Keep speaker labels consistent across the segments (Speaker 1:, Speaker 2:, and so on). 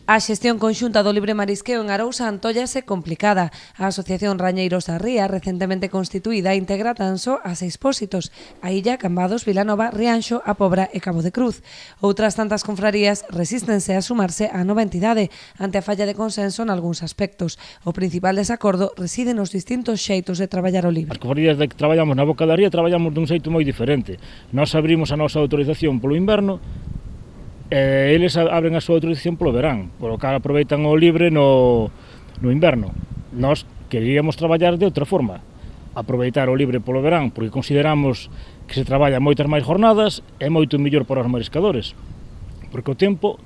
Speaker 1: A xestión conxunta do libre marisqueo en Arousa antóllase complicada. A Asociación Rañeiros da Ría, recentemente constituída, integra tan só a 6 pósitos: a Illa, Cambados, Vilanova, Rianxo, A Pobra e Cabo de Cruz. Outras tantas confrarías resístense a sumarse á nova entidade ante a falla de consenso nalgúns aspectos. O principal desacordo reside nos distintos xeitos de traballar o libre.
Speaker 2: As confrarías de que traballamos na Boca da Ría traballamos dun xeito moi diferente. Nós abrimos a nosa autorización polo inverno, eles abren a súa autorización polo verán, polo que aproveitan o libre no inverno. Nós queríamos traballar de outra forma, aproveitar o libre polo verán, porque consideramos que se traballa moitas máis jornadas, é moito mellor para os mariscadores, porque o tempo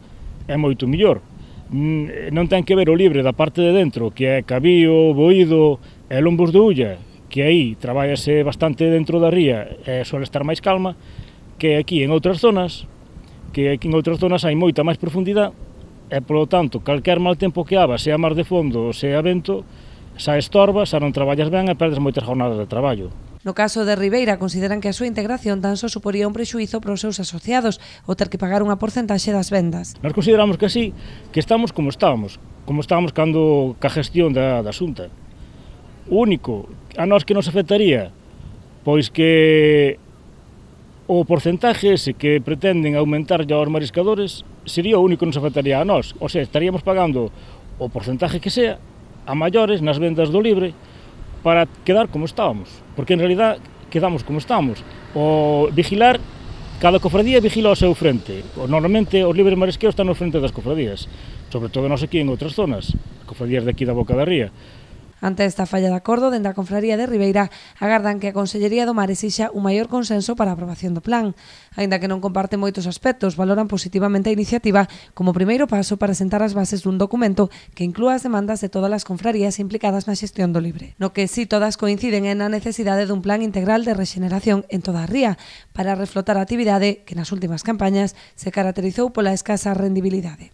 Speaker 2: é moito mellor. Non ten que ver o libre da parte de dentro, que é Cabío, Boído e Lombos de Ulla, que aí traballase bastante dentro da ría e suele estar máis calma, que aquí en outras zonas, hai moita máis profundidade e, polo tanto, calquer mal tempo que haga, sea mar de fondo ou sea vento, xa estorba, xa non traballas ben e perdes moitas jornadas de traballo.
Speaker 1: No caso de Ribeira, consideran que a súa integración tan só suporía un prexuízo para os seus asociados o ter que pagar unha porcentaxe das vendas.
Speaker 2: Nós consideramos que así, que estamos como estábamos cando ca gestión da Xunta. O único a nós que nos afectaría, pois que o porcentaxe ese que pretenden aumentar aos mariscadores sería o único que nos afectaría a nós. O sea, estaríamos pagando o porcentaxe que sea a maiores nas vendas do libre para quedar como estábamos. Porque en realidad quedamos como estamos. O vigilar, cada cofradía vigila ao seu frente. Normalmente os libres marisqueos están no frente das cofradías, sobre todo nós aquí en outras zonas, cofradías de aquí da Boca da Ría.
Speaker 1: Ante esta falla de acordo, dende a Confraría de Ribeira agardan que a Consellería do Mar exixa un maior consenso para a aprobación do plan. Aínda que non comparte moitos aspectos, valoran positivamente a iniciativa como primeiro paso para sentar as bases dun documento que inclúa as demandas de todas as confrarías implicadas na xestión do libre. No que si todas coinciden é na necesidade dun plan integral de rexeneración en toda a ría para reflotar a actividade que nas últimas campañas se caracterizou pola escasa rendibilidade.